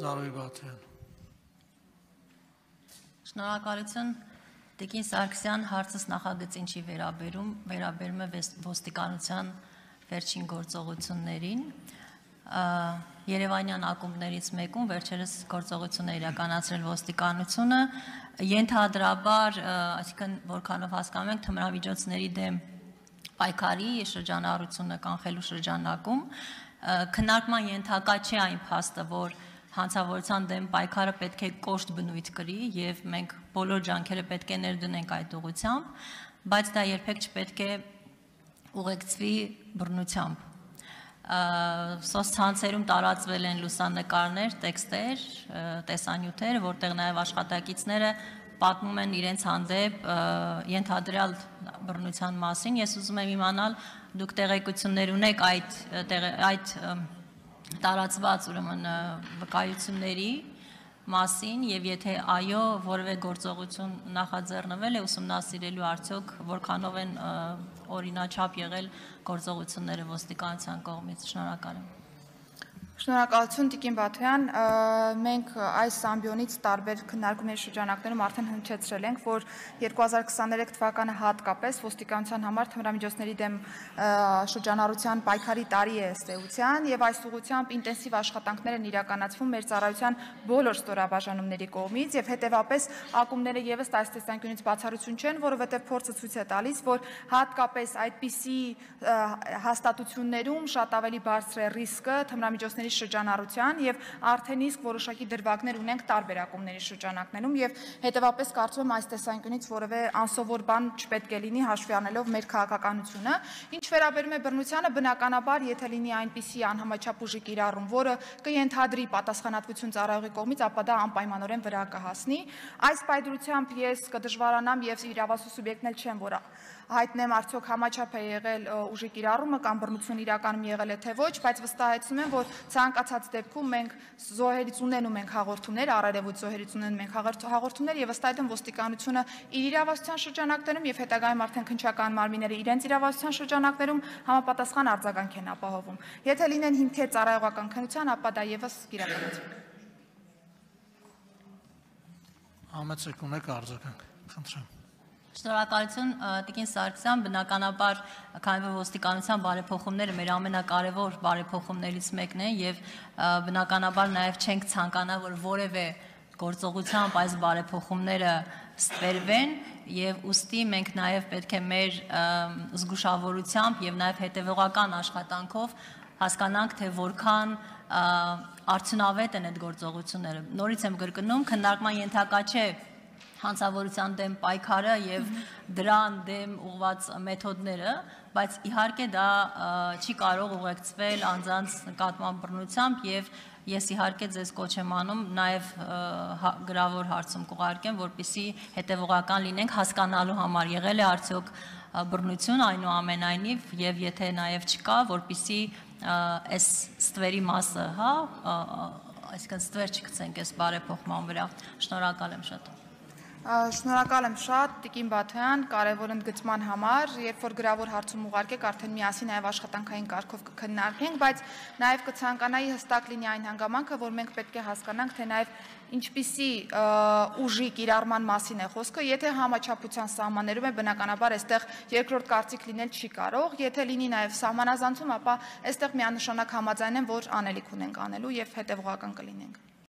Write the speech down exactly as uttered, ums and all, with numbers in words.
Զարուհի Բաթյան։ Շնորհակալություն Տիկին Սարգսյան, հարցս նախագծին չի վերաբերում, վերաբերում է ոստիկանության վերջին գործողություններին։ Երևանյան ակումբներից մեկում վերջերս գործողություն է իրականացրել ոստիկանությունը, ենթադրաբար, այսինքն որքանով հասկանում ենք, թմրամիջոցների դեմ պայքարի շրջանառությունը կանխելու շրջանակում, քննարկման ենթակա չէ այն փաստը, որ հանցավորության դեմ պայքարը պետք է կոշտ բնույթ կրի եւ մենք բոլոր ջանքերը պետք է ներդնենք այդ ուղղությամբ, բայց դա երբեք չպետք է ուղեկցվի բռնությամբ։ Սոցցանցերում տարածվել են լուսանկարներ, տեքստեր, տեսանյութեր, որտեղ նաեւ աշխատակիցները պատմում են իրենց հանդեպ ենթադրյալ բռնության մասին։ Ես ուզում եմ իմանալ, դուք տեղեկություններ ունեք այդ այդ տարածված ուրեմն վկայությունների մասին եւ եթե այո, որևէ գործողություն նախաձեռնվել է ուսումնասիրելու արդյոք որքանով են օրինաչափ եղել գործողությունները ոստիկանության կողմից։ Շնորհակալ եմ։ Շնորհակալություն Տիկին Բաթյան, մենք այս ամբիոնից տարբեր քննարկումների շրջանակներում արդեն հնչեցրել ենք, որ երկու հազար քսաներեք թվականը հատկապես ոստիկանության համար թմրամիջոցների դեմ շրջանառության պայքարի տարի է ըստ էության եւ այս ուղղությամբ ինտենսիվ աշխատանքներ են իրականացվում մեր ծառայության բոլոր ստորաբաժանումների կողմից եւ հետեւապես ակումբները եւս այս տեսանկյունից բացառություն չեն, որովհետեւ փորձը ցույց է տալիս, որ հատկապես այդպիսի հաստատություններում շատ ավելի բարձր է ռիսկը թմրամիջոցների շրջանառության եւ արդեն իսկ որոշակի դրվագներ ունենք տարբեր ակումբների շրջանակներում եւ հետեւապես կարծում եմ այս տեսանկյունից որևէ անսովոր բան չպետք է լինի հաշվի առնելով մեր քաղաքականությունը։ Ինչ վերաբերում է բռնությանը, բնականաբար, եթե լինի այնպիսի անհամաչափ ուժի կիրառում, որը կընդհանրի պատասխանատվություն ծառայողի կողմից, ապա դա անպայմանորեն վրա կհասնի։ Այս պայծրությամբ ես կդժվարանամ եւ իրավասու սուբյեկտն էլ չեմ, որ հայտնեմ արդյոք համաչափ է եղել ուժի կիրառումը կամ բռնություն իրականում եղել է թե ոչ, բայց վստահեցնում եմ, որ ցանկացած դեպքում մենք զոհերից ունենում ենք հաղորդումներ, առերևույթ զոհերից ունենում ենք հաղորդումներ եւ ըստ այդմ ոստիկանությունը իր իրավասության շրջանակներում եւ հետագայում արդեն քննչական մարմինները իրենց իրավասության շրջանակներում համապատասխան արձագանք են ապահովում։ Եթե լինեն հիմքեր ծառայողական քննության, ապա դա եւս կիրականացվի։ Համեցեք ունեք արձագանք, խնդրեմ։ Շնորհակալություն Տիկին Սարգսյան, բնականաբար քանի որ ոստիկանության բարեփոխումները մեր ամենակարևոր բարեփոխումներից մեկն է եւ բնականաբար նաեւ չենք ցանկանա որ որևէ գործողությամբ այս բարեփոխումները ստվերվեն եւ ուստի մենք նաեւ պետք է մեր զգուշավորությամբ եւ նաեւ հետեւողական աշխատանքով հասկանանք թե որքան արդյունավետ են այդ գործողությունները։ Նորից եմ կրկնում, քննարկման ենթակա չէ հանցավորության դեմ պայքարը եւ դրան դեմ ուղված մեթոդները, բայց իհարկե դա չի կարող ուղեկցվել անձանց նկատմամբ բռնությամբ եւ ես իհարկե ձեզ կոչ եմ անում նաեւ գրավոր հարցում կուղարկեմ, որպեսզի հետեւողական լինենք հասկանալու համար եղել է արդյոք բռնություն այնուամենայնիվ եւ եթե նաեւ չկա, որպեսզի այս ստվերի մասը, հա, այսինքն ստվեր չգցենք այս բարեփոխման վրա։ Շնորհակալ եմ շատ։ Շնորհակալ եմ շատ Տիկին Բաթյան, կարևոր ընդգծման համար, երբ որ գրավոր հարցում ուղարկեք, արդեն միասին նաև աշխատանքային կարգով կքննարկենք, բայց նաև կցանկանայի հստակ լինի այն հանգամանքը, որ մենք պետք է հասկանանք, թե նաև ինչպիսի ուժի կիրառման մասին է խոսքը, եթե համաչափության սահմաններում է, բնականաբար այստեղ երկրորդ կարծիք լինել չի կարող, եթե լինի նաև սահմանազանցում, ապա այստեղ միանշանակ համաձայն եմ, որ անելիք ունենք անելու եւ հետեւողական կլինենք։